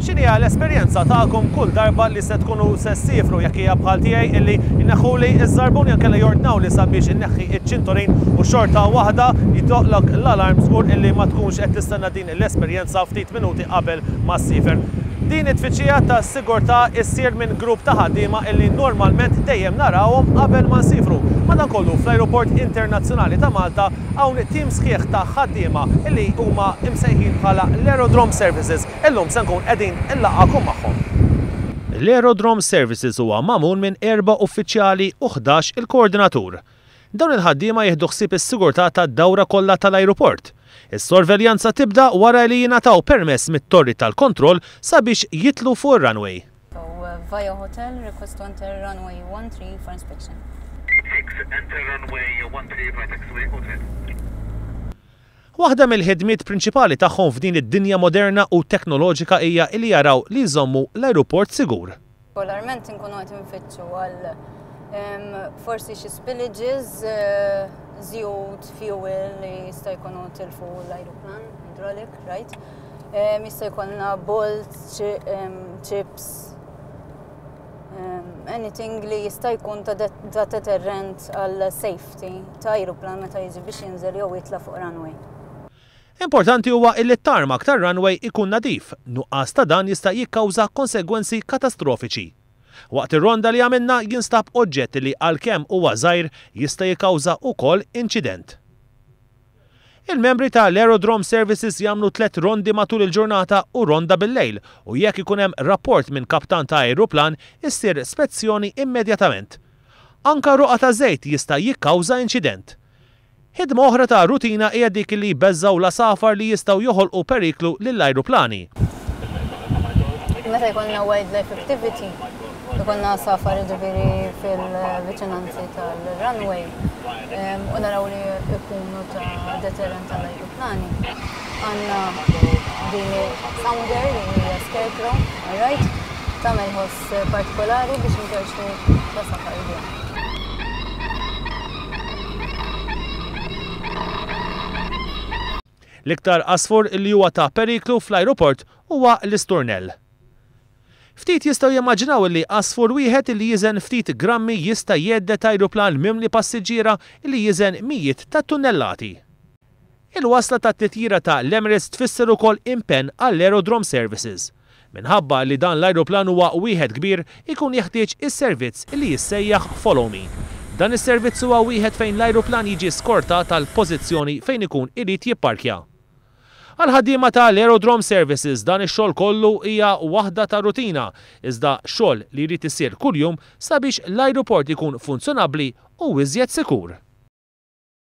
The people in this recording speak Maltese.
X'inhija l-esperjenza tagħkom kull darba li se tkunu se ssiefru jekk hija bħal tiegħi illi jneħħuli ż-żarbun jew inkella jordnawli sabiex inneħħi ċ-ċintorin u xorta waħda jdoqqlok l-alarm żgur illi ma tkunx qed tistenna din l-esperjenza ftit minuti qabel ma ssiefer. Din it-tfittxija ta' sigurtà issir minn grupp ta' ħaddiema illi normalment dejjem narawhom qabel ma nsiefru. Madankollu fl-Ajruport Internazzjonali ta' Malta hawn tim sħiħ ta' ħaddiema illi huma msejħin bħala l-Aerodrome Services. Illum se nkun qegħdin inlaqqagħkom magħhom. L-Aerodrome Services huwa magħmul minn erba' uffiċjali u 11 il-koordinatur. Dawn il-ħaddiema jieħdu ħsieb is-sigurtà tad-dawra kollha tal-ajruport. Is-sorveljanza tibda wara li jingħataw permess mit-torri tal-kontroll sabiex jidħlu fuq ir-runway. So, via hotel, request to enter runway 13 for inspection. 6, enter runway 13 via taxiway hotel. Waħda mill-ħidmiet prinċipali tagħhom f'din id-dinja moderna u teknoloġika hija li jaraw li jżommu l-ajruport sigur. Regolarment inkunu qed infittxu għal forsi xi spillages, żjut, fuel li jista' jkunu tilfu l-ajruplan, hydraulic, right? Jista' jkollna bolts, chips, anything li jista' jkun ta' deterrent għal safety ta' ajruplan meta jiġi biex jinżel jew jitla' fuq runway. Importanti huwa illi t-tarmac tar-runway ikun nadif, nuqqas ta' dan jista' jikkawża konsegwenzi katastrofiċi. Waqt ir-ronda li għamilna jinstab oġġett li għalkemm huwa żgħir jista' jikkawża wkoll inċident. Il-membri ta' l-Aerodrome Services jagħmlu tlett rondi matul il-ġurnata u ronda bil-lejl u jekk ikun hemm rapport minn kaptan ta' ajruplan issir spezzjoni immedjatament. Anka roqgħa ta' żejt jista' jikkawża inċident. Ħidma oħra ta' rutina hija dik li jbeżżgħu l-għasafar li jistgħu joħolqu periklu lill-ajruplani. Meta jkollna wildlife activity, ikollna għasafar jiġifieri fil-viċinanzi tal-runway u naraw li jkunu ta' deterrent għall-ajruplani. Għandna din sounder li hija scarecrow, alright? Tagħmel ħoss partikolari biex inkerċu l-għasafar biha. L-iktar għasfur li huwa ta' periklu fl-ajruport huwa l-isturnell. Ftit jistgħu jimmaġinaw li għasfur wieħed li jiżen ftit grammi jista' jhedded ajruplan mimli passiġġiera li jiżen mijiet ta' tunnellati. Il-wasla tat-titjira ta' l-Emirates tfisser ukoll impenn għall-Aerodrome Services. Minħabba li dan l-ajruplan huwa wieħed kbir, ikun jeħtieġ is-servizz li jissejjaħ Follow Me. Dan is-servizz huwa wieħed fejn l-ajruplan jiġi skortat għal pożizzjoni fejn ikun irid jipparkja. Għall-ħaddiema ta' l-Aerodrome Services dan ix-xogħol kollu hija waħda ta' rutina, iżda xogħol li jrid isir kuljum sabiex l-ajruport ikun funzjonabbli u iżjed sikur.